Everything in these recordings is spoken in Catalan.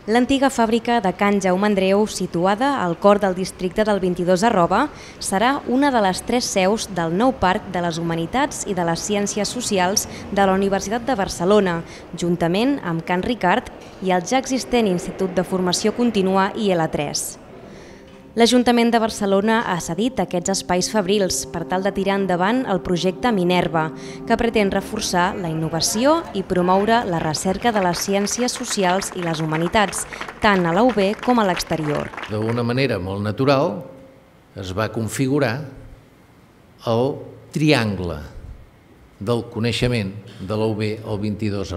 L'antiga fàbrica de Can Jaume Andreu, situada al cor del districte del 22 serà una de les 3 seus del nou Parc de les Humanitats i de les Ciències Socials de la Universitat de Barcelona, juntament amb Can Ricart i el ja existent Institut de Formació Contínua IL3. L'Ajuntament de Barcelona ha cedit aquests espais fabrils per tal de tirar endavant el projecte Minerva, que pretén reforçar la innovació i promoure la recerca de les ciències socials i les humanitats, tant a la UB com a l'exterior. D'una manera molt natural es va configurar el triangle del coneixement de la UB al 22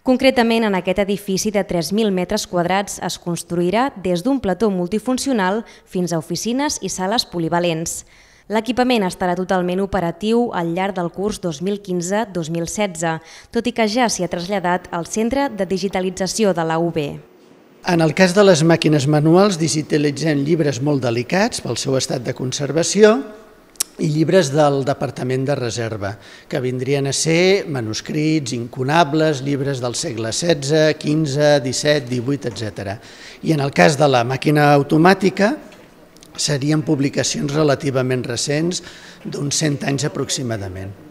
Concretament, en aquest edifici de 3.000 metres quadrats es construirà des d'un plató multifuncional fins a oficines i sales polivalents. L'equipament estarà totalment operatiu al llarg del curs 2015-2016, tot i que ja s'hi ha traslladat al Centre de Digitalització de la UB. En el cas de les màquines manuals, digitalitzem llibres molt delicats pel seu estat de conservació i llibres del Departament de Reserva, que vindrien a ser manuscrits, incunables, llibres del segle XVI, XV, XVII, XVIII, etc. I en el cas de la màquina automàtica, serien publicacions relativament recents, d'uns 100 anys aproximadament.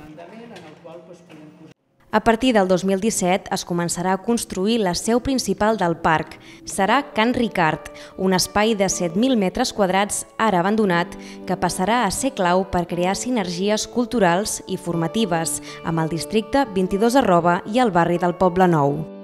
A partir del 2017 es començarà a construir la seu principal del parc. Serà Can Ricart, un espai de 7.000 metres quadrats ara abandonat que passarà a ser clau per crear sinergies culturals i formatives amb el districte 22 i el barri del Poble Nou.